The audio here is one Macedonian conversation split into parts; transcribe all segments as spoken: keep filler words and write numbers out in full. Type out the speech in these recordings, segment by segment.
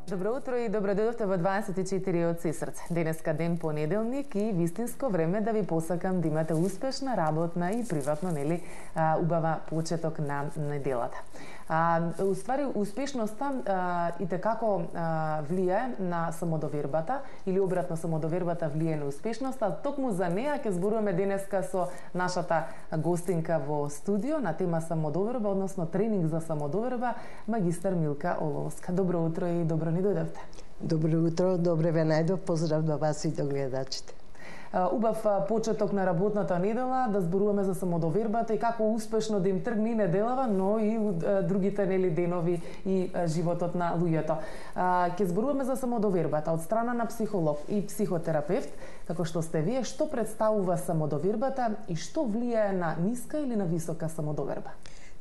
Добро утро и добро дојдовте во дваесет и четири од Сесрце. Денеска ден понеделник и вистинско време да ви посакам да имате успешна работна и приватно, нели, убава почеток на неделата. А, уствари, успешноста а, и текако а, влијае на самодовербата или обратно самодовербата влијае на успешноста. Токму за неа ќе зборуваме денеска со нашата гостинка во студио на тема самодоверба, односно тренинг за самодоверба, магистар Милка Оловска. Добро утро и добро ни дојдовте. Добро утро, добре ве најдов, поздрав до вас и до гледачите. Убав почеток на работната недела, да зборуваме за самодовербата и како успешно да им тргне неделава, но и другите, нели, денови и животот на луѓето. Ќе зборуваме за самодовербата од страна на психолог и психотерапевт, како што сте вие. Што представува самодовербата и што влијае на ниска или на висока самодоверба?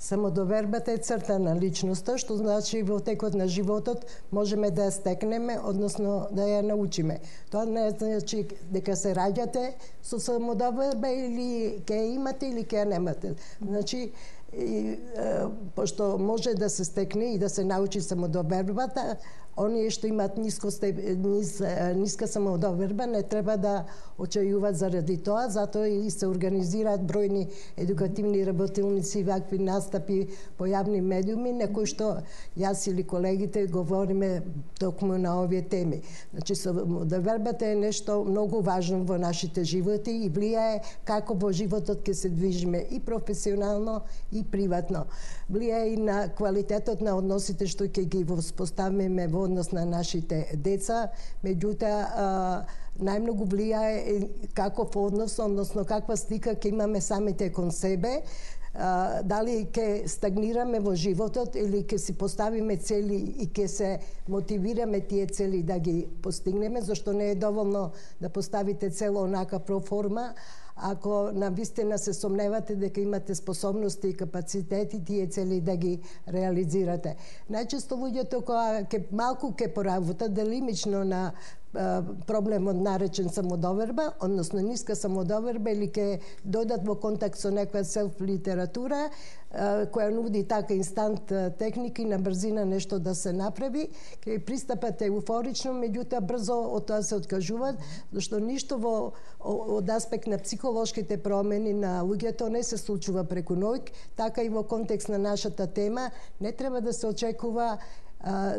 Самодовербата е црта на личноста, што значи во текот на животот можеме да ја стекнеме, односно да ја научиме. Тоа не значи дека се раѓате со самодоверба или ќе ја имате или ќе ја немате. Значи, и, е, пошто може да се стекне и да се научи самодовербата, оние што имаат ниско степ, нис, ниска самодоверба не треба да очајуваат заради тоа, затоа и се организираат бројни едукативни работилници, вакви настапи по јавни медиуми, на кои што јас или колегите говориме токму на овие теми. Значи, самодовербата е нешто многу важно во нашите животи и влијае како во животот ќе се движиме и професионално и приватно. Влијае и на квалитетот на односите што ќе ги воспоставиме во однос на нашите деца, меѓутоа најмногу влијае каков однос, односно каква слика ќе имаме самите кон себе, дали ќе стагнираме во животот или ќе си поставиме цели и ќе се мотивираме тие цели да ги постигнеме, зашто не е доволно да поставите цел онака проформа, ако навистина се сомневате дека имате способности и капацитети тие цели да ги реализирате. Најчесто луѓето кога ќе малку ќе поработат делимично на проблемот наречен самодоверба, односно ниска самодоверба, или ќе дојдат во контакт со некоја селф литература која нуди така инстант техники на брзина нешто да се направи, ќе пристапат еуфорично, меѓутоа брзо од тоа се откажуваат, зашто ништо во од аспект на психолошките промени на луѓето не се случува преку ноќ, така и во контекст на нашата тема не треба да се очекува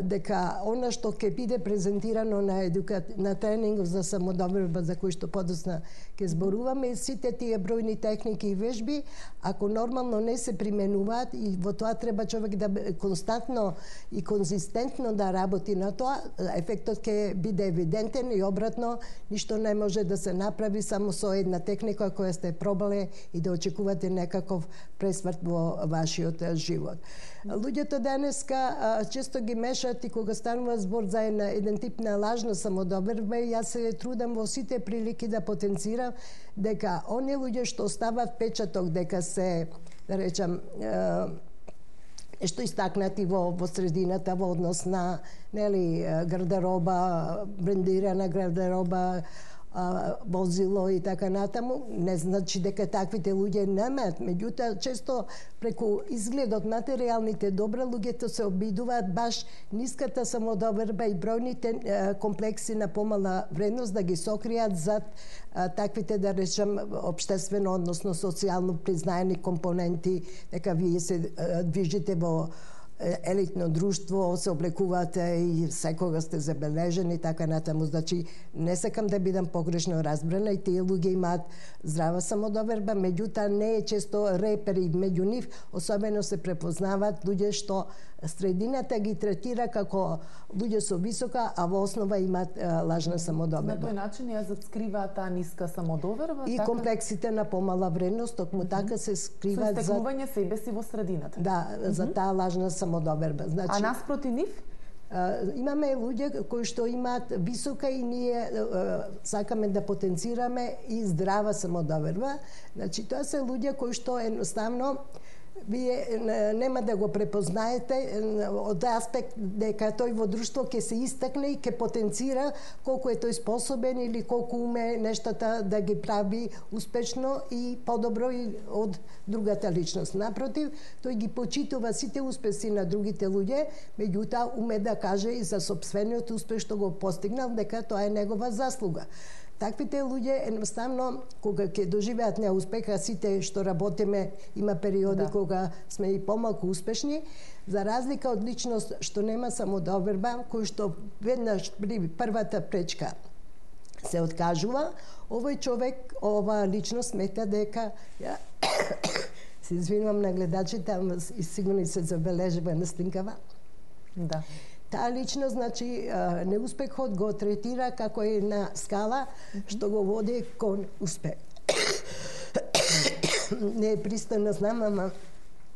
дека она што ќе биде презентирано на едука... на тренингов за самодоверба, за кој што подосна ќе зборуваме, сите тие бројни техники и вежби, ако нормално не се применуваат, и во тоа треба човек да константно и конзистентно да работи на тоа, ефектот ќе биде евидентен и обратно, ништо не може да се направи само со една техника која сте пробале и да очекувате некаков пресврт во вашиот живот. Луѓето денеска често ги мешаат и кога станува збор за една, еден тип на лажна самодоверба, јас се трудам во сите прилики да потенцирам дека оние луѓе што остават печаток дека се, да речам, нешто истакнати во, во средината во однос на, нели, гардероба, брендирана гардероба, возило и така натаму, не значи дека таквите луѓе немаат, меѓутоа често преку изгледот материјалните добра луѓето се обидуваат баш ниската самодоверба и бројните комплекси на помала вредност да ги сокријат зад таквите, да речем, општествено, односно социјално признаени компоненти, дека вие се движите во елитно друштво, се облекувате и секога сте забележени, така натаму. Значи, не сакам да бидам погрешно разбрана и тие луѓе имаат здрава самодоверба, меѓутоа не е често репери меѓу нив, особено се препознаваат луѓе што средината ги третира како луѓе со висока, а во основа имаат лажна самодоверба. На тој начин ја заскрива таа ниска самодоверба и така... комплексите на помала вредност, токму mm -hmm. така се скриваат за истекнување себе си во средината. Да, mm -hmm. за таа лажна самодоверба. Значи, а наспроти нив? Uh, имаме луѓе кои што имаат висока и ние uh, сакаме да потенцираме и здрава самодоверба. Значи, тоа се луѓе кои што едноставно вие нема да го препознаете од аспект дека тој во друштво ќе се истакне и ќе потенцира колку е тој способен или колку уме нештата да ги прави успешно и подобро и од другата личност. Напротив, тој ги почитува сите успеси на другите луѓе, меѓутоа уме да каже и за сопствениот успех што го постигнал дека тоа е негова заслуга. Таквите луѓе едноставно кога ќе доживеат неуспех, а сите што работиме има периоди да. Кога сме и помалку успешни, за разлика од личност што нема самодоверба, кој што веднаш при првата пречка се откажува, овој човек, ова личност смета дека ја се извинувам на гледачите, ама и сигурно се забележува на снимкава. Да. Таа личност, значи, неуспехот го третира како една скала што го води кон успех. Не е пристойно, знам, ама...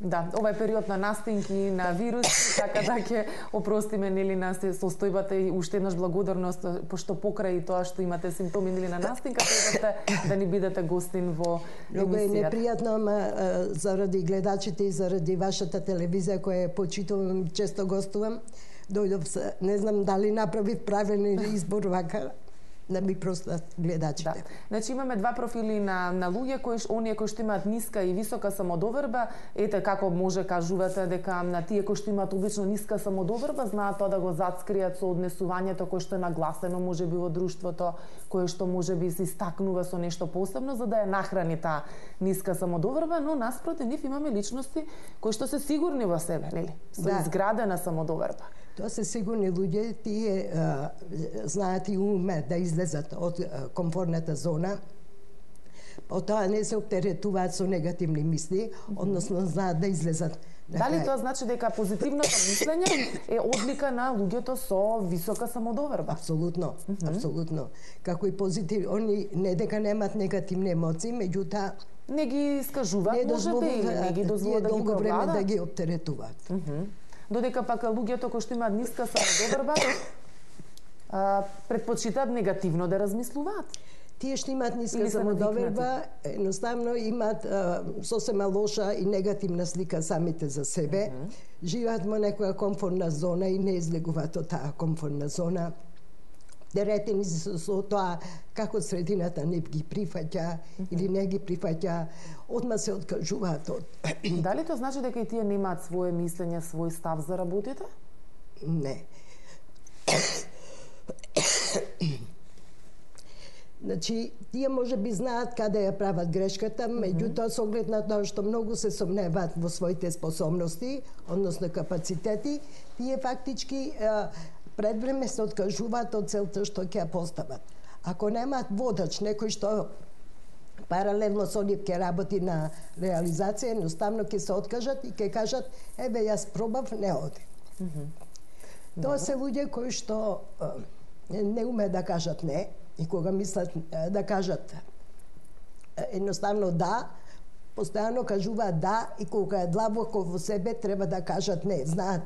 Да, ова е период на настинки, на вируси, така да ќе опростиме нели на состојбата и уште еднаш благодарност, пошто покрај тоа што имате симптоми нели на настинка, требате да ни бидете гостин во емисијата. Много е непријатно, ама заради гледачите и заради вашата телевизија која почитувам, често гостувам, дојдов се, не знам дали направив правилен избор вака, да ми простат гледачите. Да. Значи имаме два профили на на луѓе кои оние кои што имаат ниска и висока самодоверба, ете како може кажувате дека на тие кои што имаат обично ниска самодоверба знаат тоа да го зацкријат со однесувањето кое што е нагласено можеби во друштвото, кое што можеби се истакнува со нешто посебно за да ја нахрани таа ниска самодоверба, но наспроти нив имаме личности кои што се сигурни во себе, нели? Со да. Изградена самодоверба. Тоа се сигурни луѓе, тие а, знаат и уме да излезат од а, комфортната зона, потоа не се оптеретуваат со негативни мисли, односно знаат да излезат. Дали тоа значи дека позитивното мислење е одлика на луѓето со висока самодоверба? Апсолутно, mm -hmm. апсолутно. Како и позитив, они не дека немаат негативни емоции, меѓутоа не ги искажуваат, можеби, или не ги дозволат да ги долго време да ги оптеретуваат. Mm -hmm. Додека пак луѓето кои што имаат ниска самодоверба предпочитаат негативно да размислуваат. Тие што имаат ниска самодоверба, едноставно имаат а, сосема лоша и негативна слика самите за себе. Mm -hmm. Живеат во некоја комфортна зона и не излегуваат од таа комфортна зона. Деретени се со тоа како средината не ги прифаќа mm -hmm. или не ги прифаќа, одма се откажуваат од... Дали тоа значи дека и тие немаат свое мислење, свој став за работите? Не. Значи, тие може би знаат каде ја прават грешката, меѓутоа со оглед на тоа што многу се сомневаат во своите способности, односно капацитети, тие фактички пред време се откажуваат од целта што ќе ја постават. Ако немаат водач, некој што паралелно со нив ќе работи на реализација, едноставно ќе се откажат и ќе кажат, еве јас пробав, не оди. Mm -hmm. Тоа се луѓе кои што не уме да кажат не, и кога мислат да кажат едноставно да, постојано кажуваат да, и кога е длабоко во себе треба да кажат не. Знаат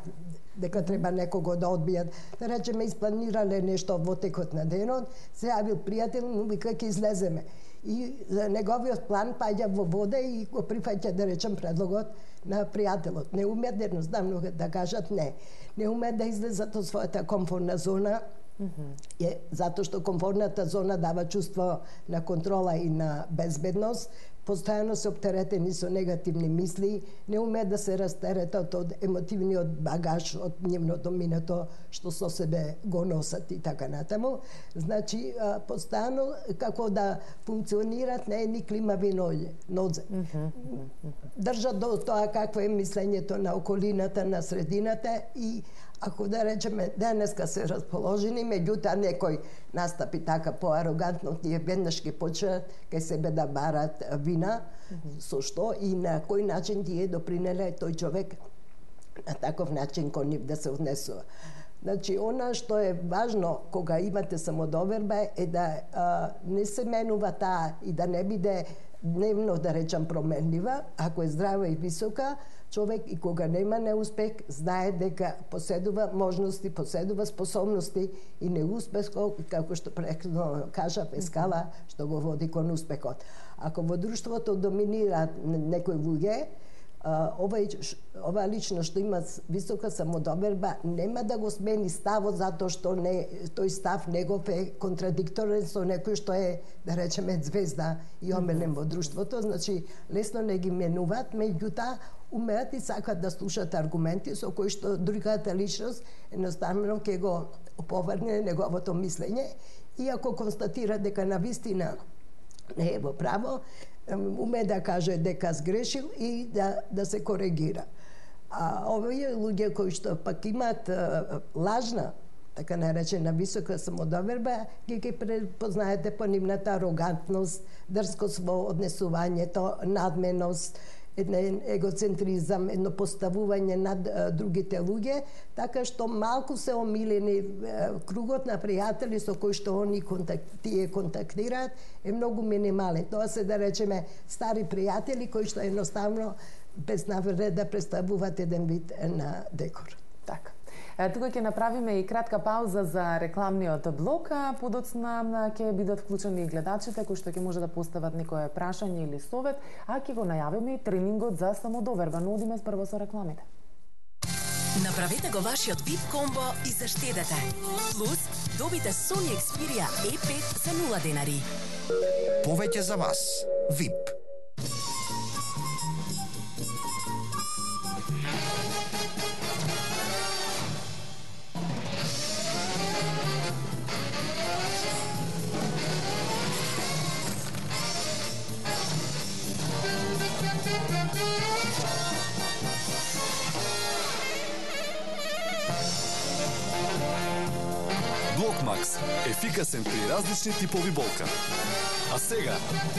дека треба некого да одбијат. Да речеме, испланирале нешто во текот на денот, се јавил пријател, му вика ќе излеземе. И неговиот план паѓа во вода и го прифаќа, да речем, предлогот на пријателот. Не умеат едноставно да кажат не. Не умеат да излезат од својата комфортна зона, mm -hmm. е, затоа што комфортната зона дава чувство на контрола и на безбедност, постојано се оптеретени со негативни мисли, не умеат да се растеретат од емотивниот багаж, од нивното минато што со себе го носат и така натаму. Значи, постојано како да функционират на едни климави нозе. Mm -hmm. Држат до тоа какво е мислењето на околината, на средината и ако да речеме денеска се расположени, меѓутоа некој настапи така поарогантно, тие веднаш ќе почнат кај себе да барат вина, mm -hmm. со што и на кој начин тие допринеле тој човек на таков начин кон нив да се однесува. Значи, она што е важно кога имате самодоверба е да а, не се менува таа и да не биде дневно, да речам, променлива. Ако е здрава и висока, човек и кога нема неуспех, знае дека поседува можности, поседува способности и неуспехот, како што претходно кажав, е скала што го води кон успехот. Ако во друштвото доминираат некои луѓе, овај ова личност што има висока самодоверба нема да го смени ставот затоа што не тој став негов е контрадикторен со некој што е, да речеме, звезда и омилен во друштвото, значи лесно не ги менуваат, меѓутоа умеат и сакат да слушаат аргументи со кои што другата личност едноставно ќе го оповрне неговото мислење, иако констатира дека навистина не е во право, уме да каже дека сгрешил и да, да се коригира. А овие луѓе кои што пак имаат лажна, така наречена висока самодоверба, ги ги препознаете по нивната арогантност, дрскост во однесувањето, надменост, еден егоцентризам, едно поставување над другите луѓе, така што малку се омилени кругот на пријатели со кои што они контак, тие контактираат е многу минимален. Тоа се, да речеме, стари пријатели кои што едноставно без навреда да представуваат еден вид на декор. Така. Тука ќе направиме и кратка пауза за рекламниот блок, а подоцна ќе бидат вклучени и гледачите кои што ќе може да постават некое прашање или совет, а ќе го најавиме и тренингот за самодоверба. Но одиме прво со рекламите. Направете го вашиот вип комбо и заштедете. Плюс, добите Sony Xperia е пет за нула денари. Повеќе за вас. вип. Блокмакс – ефикасен при различни типови болка. А сега,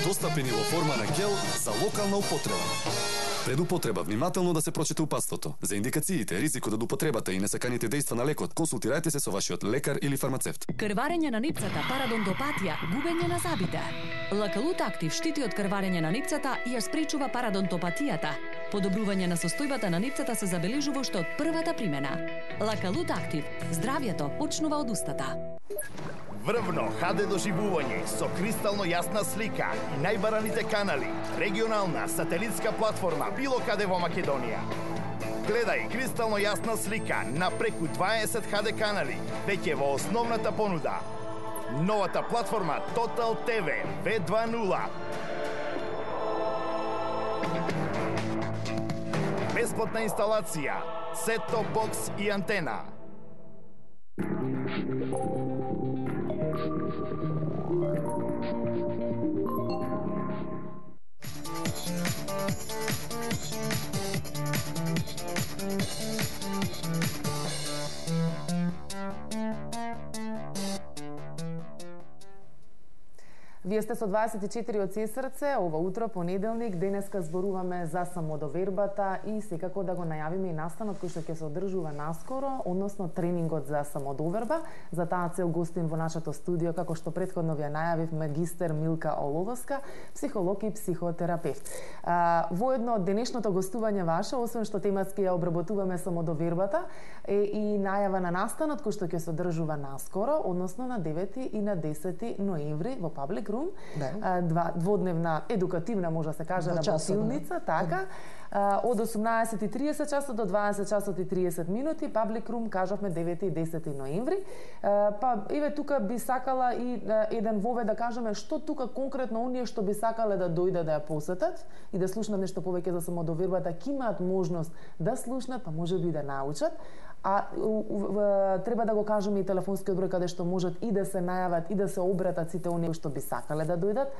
достапен и во форма на гел за локална употреба. Пред употреба внимателно да се прочита упатството. За индикациите, ризикот од употребата и несаканите дејства на лекот, консултирајте се со вашиот лекар или фармацевт. Крварење на нипцата, парадонтопатија, губење на забите. Лакалут Актив штити од крварење на нипцата и ја спречува парадонтопатијата. Подобрување на состојбата на нипцата се забележува уште од првата примена. Лакалут Актив. Здравјето почнува од устата. Врвно ха де доживување со кристално јасна слика и најбараните канали, регионална сателитска платформа било каде во Македонија. Гледај кристално јасна слика на преку дваесет ха де канали, веќе во основната понуда. Новата платформа Total Т В две дваесет. Бесплатна инсталација, сет-топ бокс и антена. Вие сте со дваесет и четири од Сесрце, ова утро, понеделник, денеска зборуваме за самодовербата и секако да го најавиме и настанот кој што ќе се одржува наскоро, односно тренингот за самодоверба. За таа цел гостин во нашето студио, како што претходно ви најавив, магистер Милка Оловска, психолог и психотерапевт. А, воедно денешното гостување ваше, освен што тематски ја обработуваме самодовербата, е и најава на настанот кој што ќе се одржува наскоро, односно на девети и на десети ноември во Public Room, да. Два, дводневна едукативна, може да се каже, работилница, така, а, од осумнаесет и триесет часот до дваесет часот и триесет минути, Public Room, кажавме девети и десети ноември. А, па, еве тука би сакала и а, еден вовед да кажеме што тука конкретно оние што би сакале да дојдат да ја посетат и да слушнат нешто повеќе за самодовербата, ќе имаат можност да слушнат, па може би да научат. А у, у, треба да го кажеме и телефонскиот број каде што можат и да се најават и да се обратат сите оние што би сакале да дојдат,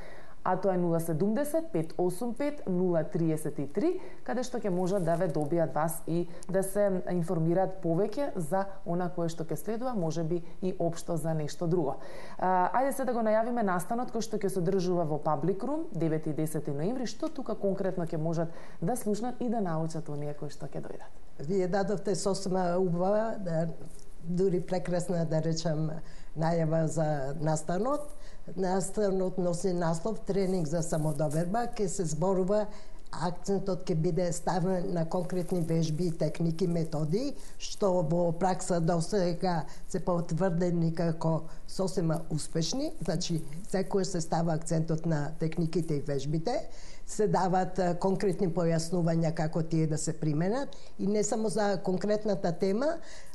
а тоа е нула седумдесет пет осум пет нула триесет и три, каде што ќе можат да ве добијат вас и да се информираат повеќе за она кое што ќе следува, можеби и општо за нешто друго. А, ајде се да го најавиме настанот кој што ќе се одржува во Public Room девети и десети ноември, што тука конкретно ќе можат да слушнат и да научат оние кои што ќе дојдат. Вие дадовте сосема убава, да, дури прекрасна, да речам, најава за настанот. Настанот носи наслов тренинг за самодоверба, ке се зборува, акцентот ќе биде ставен на конкретни вежби, техники, методи, што во пракса до сега се потврдени како сосема успешни, значи секој се става акцентот на техниките и вежбите. се дават конкретни појаснувања како тие да се применат и не само за конкретната тема,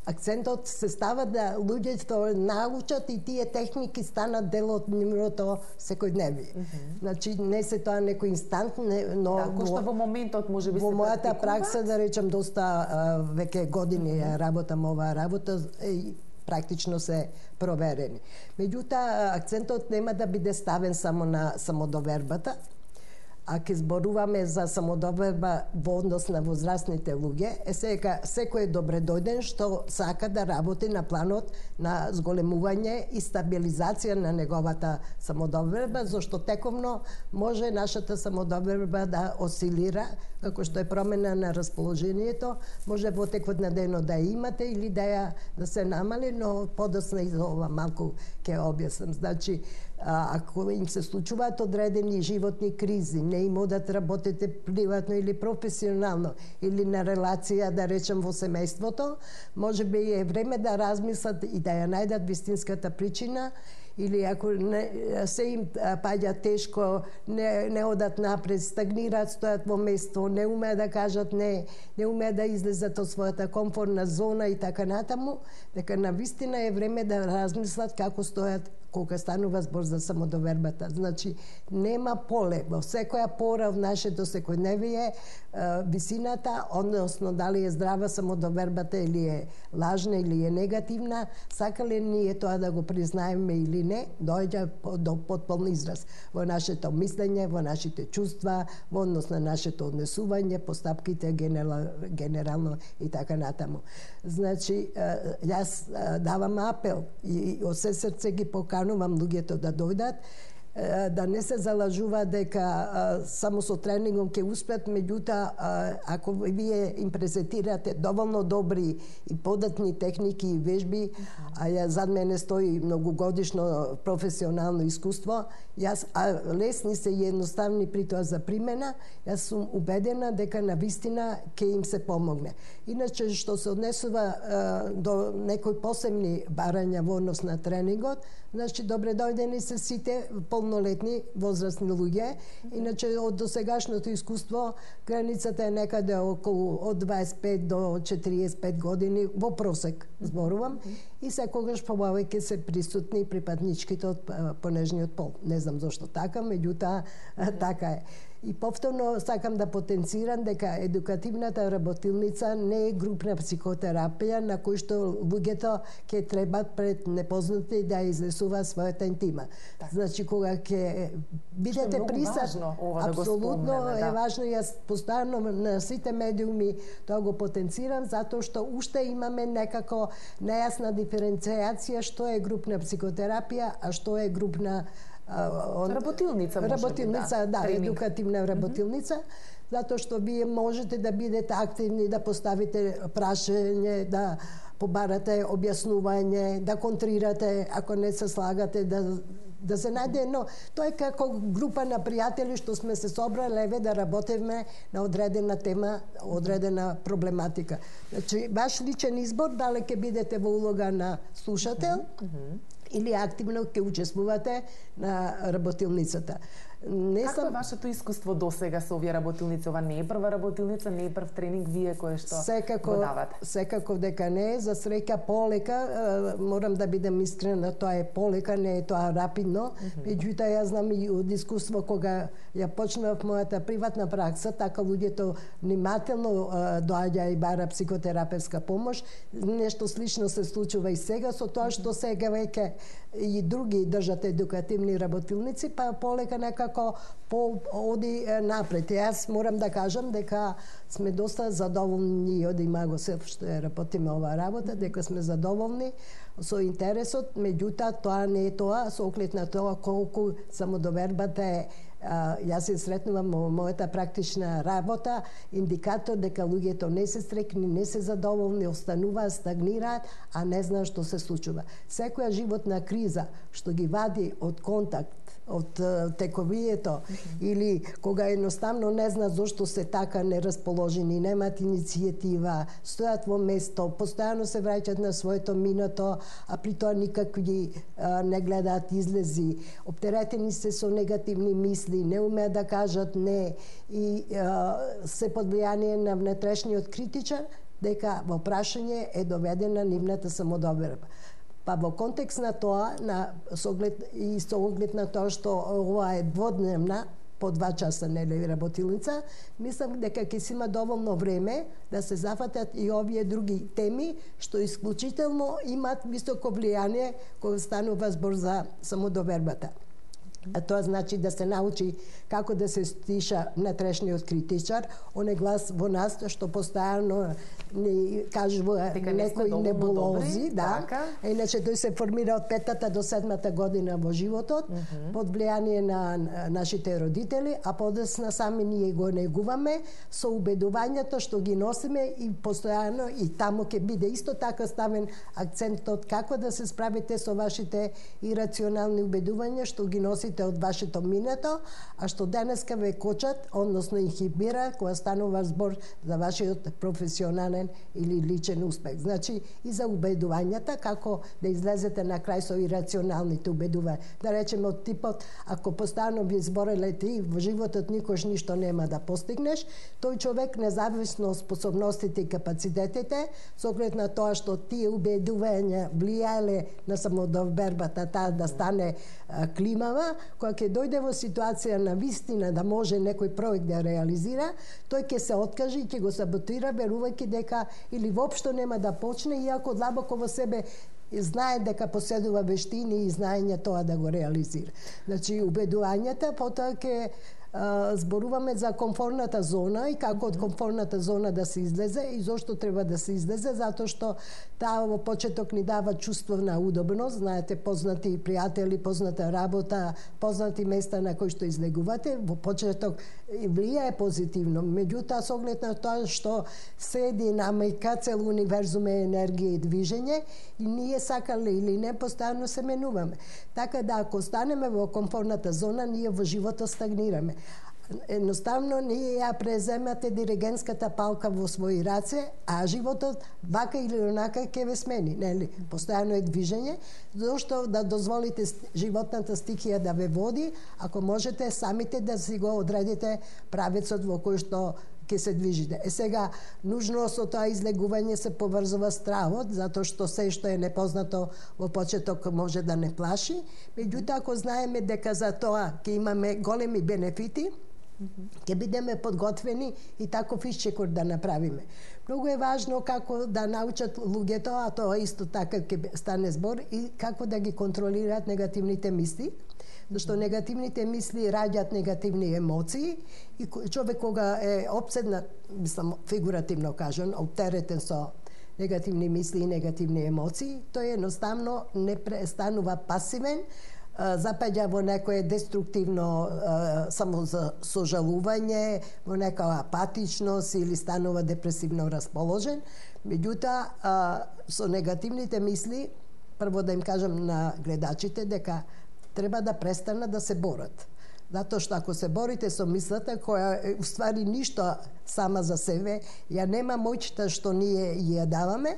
акцентот се става да луѓето научат и тие техники станат дел од нивното секојдневие. Mm -hmm. Значи не се тоа некој инстант, не, но Тако што во моментот може би се во мојата практикува? пракса, да речем, доста а, веќе години mm -hmm. работам оваа работа и практично се проверени. Меѓутоа, акцентот нема да биде ставен само на самодовербата, а ке зборуваме за самодоверба во однос на возрастните луѓе, е сега секој е добре дојден што сака да работи на планот на зголемување и стабилизација на неговата самодоверба, зашто тековно може нашата самодоверба да осцилира, како што е промена на расположението, може во текот на денот да ја имате или да ја да се намали, но подоцна и за ова малку ќе објаснам. Значи, а, ако им се случуваат одредени животни кризи, не им одат работите приватно или професионално, или на релација, да речем, во семејството, може би е време да размислат и да ја најдат вистинската причина, или ако не, се им паѓа тешко, не, не одат напред, стагнираат, стојат во место, не умеат да кажат не, не умеат да излезат од својата комфортна зона и така натаму, дека навистина е време да размислат како стојат кога станува збор за самодовербата. Значи, нема поле. Во секоја пора в нашето секојдневие висината, односно дали е здрава самодовербата или е лажна или е негативна, сакале ние тоа да го признаеме или не, доаѓа до потполн израз во нашето мислење, во нашите чувства, во однос на нашето однесување, постапките генерално и така натаму. Значи, јас давам апел и од се срце ги поканувам луѓето да дојдат, да не се залажува дека а, само со тренингом ќе успеат, меѓутоа ако вие им презентирате доволно добри и податни техники и вежби, а ја зад мене стои многогодишно професионално искуство, јас а лесни се и едноставни при тоа за примена, јас сум убедена дека навистина ќе им се помогне. Иначе што се однесува а, до некои посебни барања во однос на тренингот, значи добре дојдени се сите полнолетни возрастни луѓе. Иначе од досегашното искуство границата е некаде околу од дваесет и пет до четириесет и пет години во просек зборувам, и секогаш повеќе се присутни припадничките од понежниот пол. Не знам зошто така, меѓутоа така е. И повторно сакам да потенцирам дека едукативната работилница не е групна психотерапија на кој што луѓето ќе требат пред непознати да излесува својата интима. Так. Значи кога ќе бидете присат, апсолутно да е важно. Јас постојано на сите медиуми тоа го потенцирам, затоа што уште имаме некако нејасна диференцијација што е групна психотерапија, а што е групна он... работилница, може работилница, би, да, да едукативна работилница, mm -hmm. затоа што вие можете да бидете активни, да поставите прашање, да побарате објаснување, да контрирате ако не се слагате, да да се најде, но тоа е како група на пријатели што сме се собрале еве да работиме на одредена тема, одредена проблематика. Значи, ваш личен избор дали ќе бидете во улога на слушател, mm -hmm. или активно ќе учествувате на работилницата. Не Како сам... е вашето искуство досега со овие работилници? Ова не е прва работилница, не е прв тренинг вие кој што секако, го давате? Секако дека не е. За среќа полека, морам да бидем искрена, тоа е полека, не е тоа рапидно. Меѓутоа, mm -hmm. јас знам и од искуство кога ја почнав мојата приватна пракса, така луѓето внимателно доаѓа и бара психотерапевска помош. Нешто слично се случува и сега, со тоа што сега веќе и други држат едукативни работилници, па полека некако по оди напред. Јас морам да кажам дека сме доста задоволни од Имаго Селф што ја работиме оваа работа, дека сме задоволни со интересот, меѓутоа тоа не е тоа, со оглед на тоа колку самодовербата е. А, јас се сретнувам во мојата практична работа, индикатор дека луѓето не се стрекни, не се задоволни, остануваат, стагнираат, а не знаат што се случува. Секоја животна криза што ги вади од контакт, од тековието, mm -hmm. или кога едноставно не знаат зошто се така нерасположени, немаат иницијатива, стојат во место, постојано се враќаат на своето минато, а при тоа никакви а, не гледаат излези, оптеретени се со негативни мисли, не умеат да кажат не и а, се под влијание на внатрешниот критичар, дека во прашање е доведена нивната самодоверба. Па во контекст на тоа, на соглед и со оглед на тоа што ова е дводневна, по два часа нели работилница, мислам дека ќе си има доволно време да се зафатат и овие други теми што исклучително имаат високо влијание кога станува збор за самодовербата. А тоа значи да се научи како да се стиша внатрешниот критичар, оне глас во нас што постојано ни кажува некои небулози, да. Така. Иначе тој се формира од петата до седмата година во животот, mm -hmm. под влијание на нашите родители, а подесна сами ние го негуваме со убедувањето што ги носиме и постојано и таму ќе биде исто така ставен акцентот како да се справите со вашите ирационални убедувања што ги носите од вашето минато, а што денеска ве кочат, односно инхибира кога станува збор за вашиот професионален или личен успех. Значи и за убедувањата, како да излезете на крај со ирационалните убедувања. Да речеме од типот, ако постојано ви збореле ти во животот никош ништо нема да постигнеш, тој човек независно од способностите и капацитетите, со оглед на тоа што тие убедувања влијаеле на самодовербата, таа да стане а, климава, кога ќе дојде во ситуација на вистина да може некој проект да реализира, тој ќе се откаже и ќе го саботира, верувајќи дека или воопшто нема да почне, иако длабоко во себе знае дека поседува вештини и знаење тоа да го реализира. Значи, убедувањата, потоа ќе зборуваме за комфортната зона и како од комфортната зона да се излезе и зошто треба да се излезе, затоа што таа во почеток ни дава чувство на удобност, знаете, познати пријатели, позната работа, познати места на кои што излегувате, во почеток влијае позитивно. Меѓутоа, со оглед на тоа што се динамика, цел универзум е енергија и движење, и ние сакале или не, постојано се менуваме. Така да, ако останеме во комфортната зона, ние во животот стагнираме. Едноставно ние ја преземате диригентската палка во своји раце, а животот вака или онака ќе ве смени, нели? Постојано е движење, зашто да дозволите животната стихија да ве води, ако можете самите да си го одредите правецот во кој што ќе се движите. Е сега, нужно со тоа излегување се поврзува стравот, затоа што се што е непознато во почеток може да не плаши. Меѓутоа, ако знаеме дека за тоа ќе имаме големи бенефити, ќе бидеме подготвени и таков исчекор да направиме. Многу е важно како да научат луѓето, а тоа исто така ќе стане збор, и како да ги контролираат негативните мисли, зашто негативните мисли раѓаат негативни емоции и човек кога е обседнат, мислам фигуративно кажан, оптеретен со негативни мисли и негативни емоции, тој едноставно не престанува пасивен, запаѓа во некое деструктивно само за сожалување, во некоја апатичност или станува депресивно расположен. Меѓутоа, со негативните мисли, прво да им кажам на гледачите дека треба да престанат да се борат. Затоа што ако се борите со мислата, која е уствари ништо сама за себе, ја нема моќта што ние ја даваме,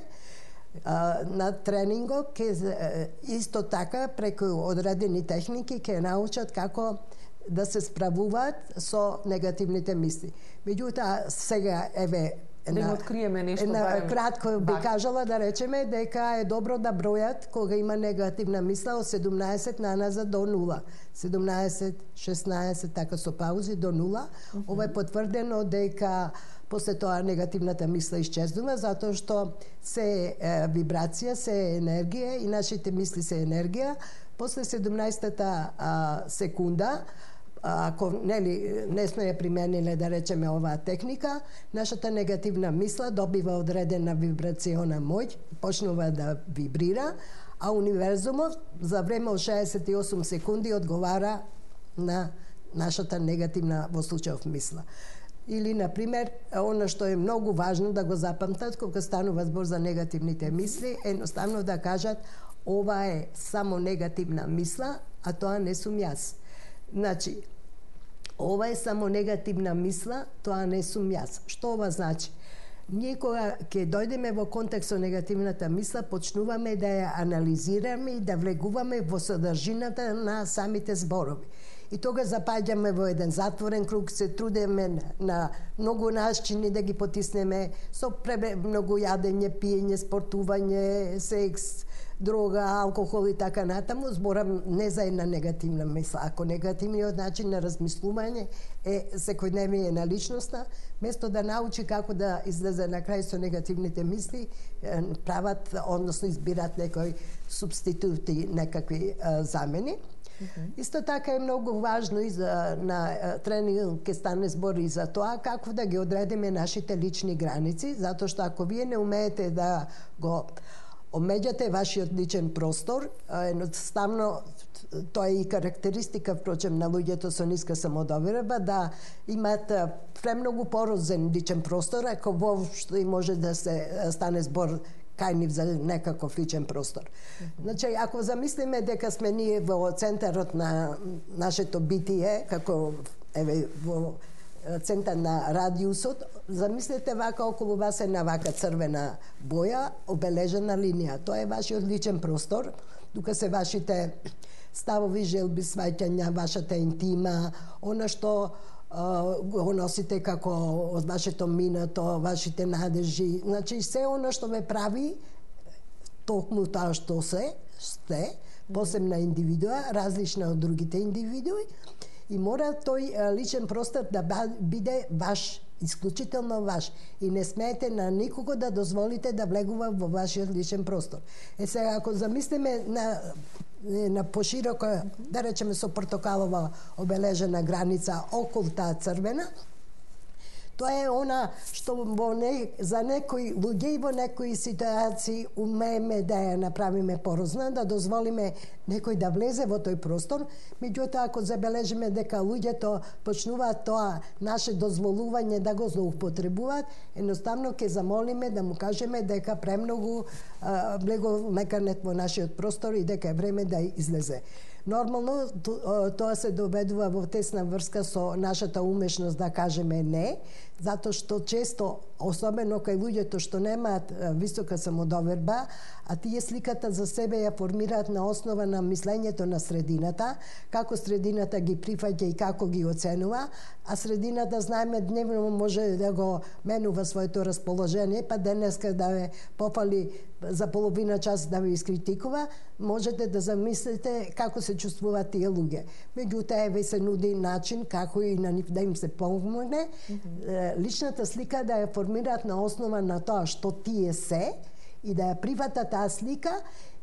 на тренингот ќе исто така преку одредени техники ќе научат како да се справуваат со негативните мисли. Меѓутоа сега еве да им откриеме нешто, барем, кратко би кажала да речеме дека е добро да бројат кога има негативна мисла од седумнаесет наназад до нула. седумнаесет, шеснаесет, така со паузи до нула. Mm -hmm. Ова е потврдено дека после тоа негативната мисла исчезнува, затоа што се е, вибрација, се е енергија и нашите мисли се енергија. После седумнаесетата секунда, ако нели не сме ја примениле да речеме оваа техника, нашата негативна мисла добива одредена вибрациона моќ, почнува да вибрира, а универзумот за време од шеесет и осум секунди одговара на нашата негативна во случајов мисла. Или, например, она што е многу важно да го запамтат кога станува збор за негативните мисли, едноставно да кажат ова е само негативна мисла, а тоа не сум јас. Значи, ова е само негативна мисла, тоа не сум јас. Што ова значи? Ние кога ќе дојдеме во контекст со негативната мисла, почнуваме да ја анализираме и да влегуваме во содржината на самите зборови. И тога запаѓаме во еден затворен круг, се трудеме на многу начини да ги потиснеме со многу јадење, пиење, спортување, секс, дрога, алкохол и така натаму, зборам не за една негативна мисла. Ако негативниот начин на размислување е секојдневие на личноста, место да научи како да излезе на крај со негативните мисли, прават, односно избират некои субститути, некакви а, замени. Mm-hmm. Исто така е многу важно и за на тренинг ке стане збор и за тоа како да ги одредиме нашите лични граници, затоа што ако вие не умеете да го омеѓате вашиот личен простор, едноставно тоа е и карактеристика впрочем на луѓето со ниска самодоверба, да имаат премногу порозен личен простор, ако воопшто и може да се стане збор кај нив за некаков личен простор. Mm-hmm. Значи, ако замислиме дека сме ние во центарот на нашето битие, како еве во центар на радиусот, замислете вака околу вас е на вака црвена боја, обележена линија. Тоа е вашиот личен простор, тука се вашите ставови, желби, сваќања, вашата интима, она што го носите како од вашето минато, вашите надежи, значи се она што ве прави токму тоа што се, сте, посебна индивидуа, различна од другите индивидуи, и мора тој личен простор да биде ваш, исклучително ваш, и не смеете на никого да дозволите да влегува во вашиот личен простор. Е сега, ако замислиме на на пошироко, да речеме со портокалова обележена граница околу таа црвена, тоа е она што во не, за некои луѓе и во некои ситуации умееме да ја направиме порозна, да дозволиме некој да влезе во тој простор, меѓутоа ако забележиме дека луѓето почнуваат тоа наше дозволување да го злоупотребуваат, едноставно ќе замолиме да му кажеме дека премногу влегол меканет во нашиот простор и дека е време да излезе. Нормално тоа се доведува во тесна врска со нашата умешност да кажеме не, затоа што често, особено кај луѓето што немаат висока самодоверба, а тие сликата за себе ја формираат на основа на мислењето на средината, како средината ги прифаќа и како ги оценува, а средината, знаеме, дневно може да го менува своето расположение, па денеска да ве пофали за половина час да ве искритикува, можете да замислите како се чувствуваат тие луѓе. Меѓутоа, еве се нуди начин како и на нив да им се помогне, mm-hmm. личната слика да ја формираат на основа на тоа што тие се и да ја прифатат таа слика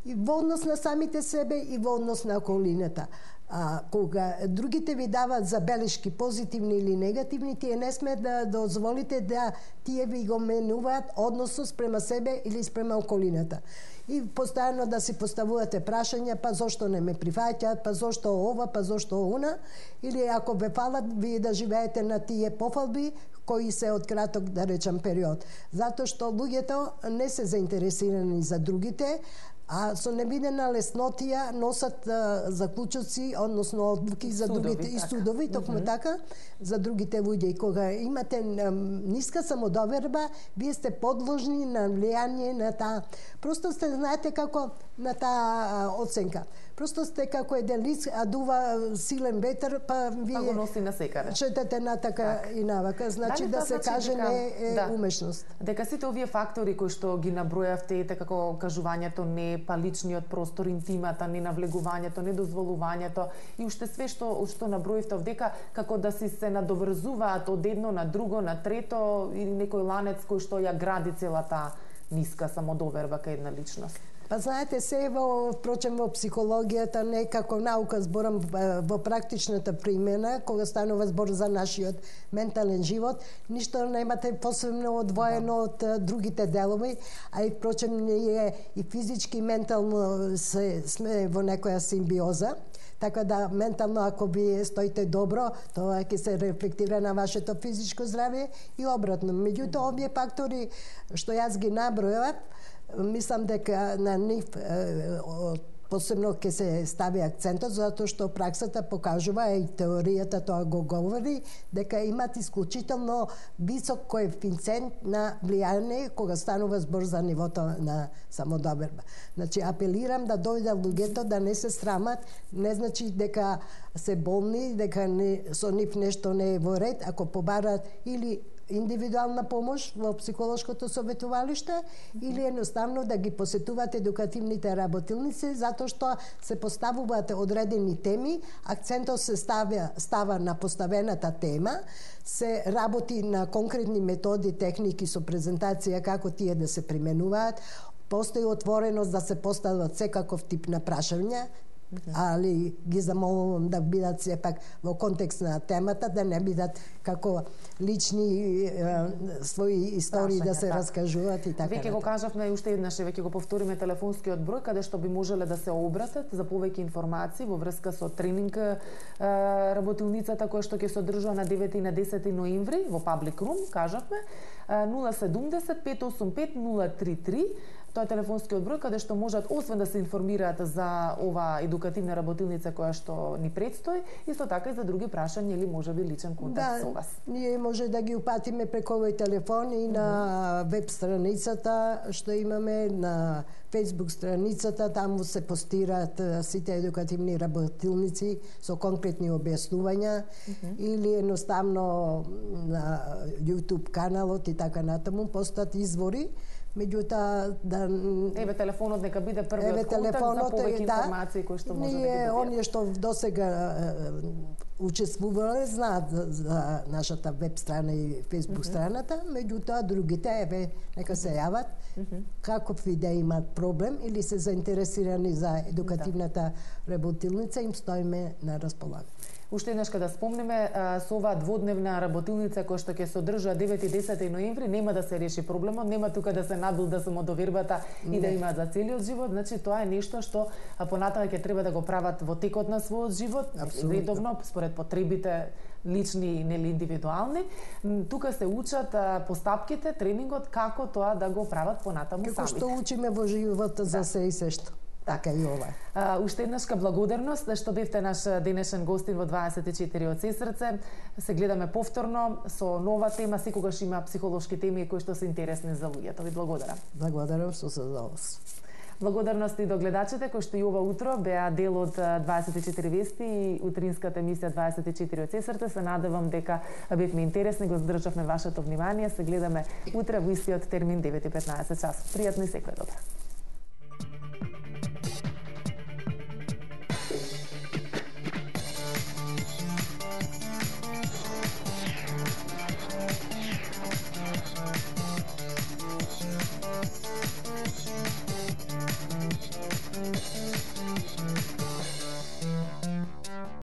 и во однос на самите себе и во однос на околината. А кога другите ви дават забелешки позитивни или негативни, тие не сме да дозволите да тие ви го менуваат односот спрема себе или спрема околината. И постојано да си поставувате прашања, па зошто не ме прифаќаат, па зошто ова, па зошто она, или ако ве фалат, вие да живеете на тие пофалби кои се од краток, да речам, период. Затоа што луѓето не се заинтересирани за другите, а со невидена леснотија носат а, заклучоци, односно одлуки за судови, другите и судови, така. токму Mm-hmm. така, за другите луѓе. И кога имате а, ниска самодоверба, вие сте подложни на влијание на таа. Просто сте, знаете како на таа оценка. Просто сте како еден лист, а дува силен ветер, па вие па го носи на секаде. Четете натака так. и навака. Значи Дали да се значи каже дека, не е да, умешност. Дека сите овие фактори кои што ги набројавте, како кажувањето не, па личниот простор, интимата, ненавлегувањето, недозволувањето и уште све што што наброивте овдека, како да си се надоврзуваат од едно на друго, на трето или некој ланец кој што ја гради целата ниска самодоверба кај една личност. Па знаете, се во, впрочем, во психологијата, не како наука, зборам во практичната примена, кога станува збор за нашиот ментален живот, ништо немате посебно одвоено од другите делови, а и впрочем ние и физички и ментално се, сме во некоја симбиоза. Така да, ментално, ако вие стоите добро, тоа ќе се рефлектира на вашето физичко здравје и обратно. Меѓутоа, овие фактори што јас ги набројав, мислам дека на нив посебно ќе се стави акцентот затоа што праксата покажува и теоријата тоа го говори дека имат исклучително висок коефициент на влијание кога станува збор за нивото на самодоверба. Значи апелирам да дојдат луѓето да не се срамат, не значи дека се болни, дека не, со нив нешто не е во ред, ако побарат или индивидуална помош во психолошкото советувалиште или едноставно да ги посетуваат едукативните работилници затоа што се поставуваат одредени теми, акцентот се ставя става на поставената тема, се работи на конкретни методи, техники со презентација како тие да се применуваат, постои отвореност да се постават секаков тип на прашања, али ги замолувам да бидат сепак во контекст на темата, да не бидат како лични е, своји истории Прашања, да се така. Раскажуваат и така. Веќе го кажавме и уште еднаш, веќе го повториме телефонскиот број каде што би можеле да се обратат за повеќе информации во врска со тренинг е, работилницата која што ќе се одржува на девети и на десети ноември во Public Room, кажавме, нула седумдесет пет осум пет нула три три. Тоа е телефонскиот број каде што можат освен да се информираат за ова едукативна работилница која што ни предстои, исто така и за други прашања или можеби личен контакт да, со вас. Ние може да ги упатиме преку овој телефон и на mm-hmm. веб страницата што имаме, на Facebook страницата, таму се постираат сите едукативни работилници со конкретни објаснувања mm-hmm. или едноставно на YouTube каналот и така натаму постат извори. Меѓутоа да еве телефонот нека биде првиот контакт за повеќе да, информации кои што може да ги добијат. Оние што досега учествувале знаат за, за нашата веб страна и Facebook mm-hmm. страната, меѓутоа другите еве нека се јават mm-hmm. каков и да имат проблем или се заинтересирани за едукативната да. работилница, им стоиме на располагање. Уште еднаш да спомнеме, со оваа дводневна работилница која што ќе се одржува девети и десети ноември, нема да се реши проблемот, нема тука да се набилда самодовербата и да имаат за целиот живот, значи тоа е нешто што понатаму ќе треба да го прават во текот на својот живот, Абсолютно. редовно, според потребите лични или индивидуални. Тука се учат постапките, тренингот, како тоа да го прават понатаму како самите. Како што учиме во животот за да. се и се што. Така и ова. Uh, уште еднашка благодарност што бевте наш денешен гостин во дваесет и четири од Сесрце. Се гледаме повторно со нова тема, секогаш има психолошки теми кои што се интересни за луѓето. Ви благодарам. Благодарам со задоволство. Благодарности до гледачите кои што и ова утро беа дел од дваесет и четири вести и утринската емисија дваесет и четири од Сесрце. Се надевам дека бевме интересни, го здржавме вашето внимание. Се гледаме утре во истиот термин девет и петнаесет часот. Пријатно и секој добро.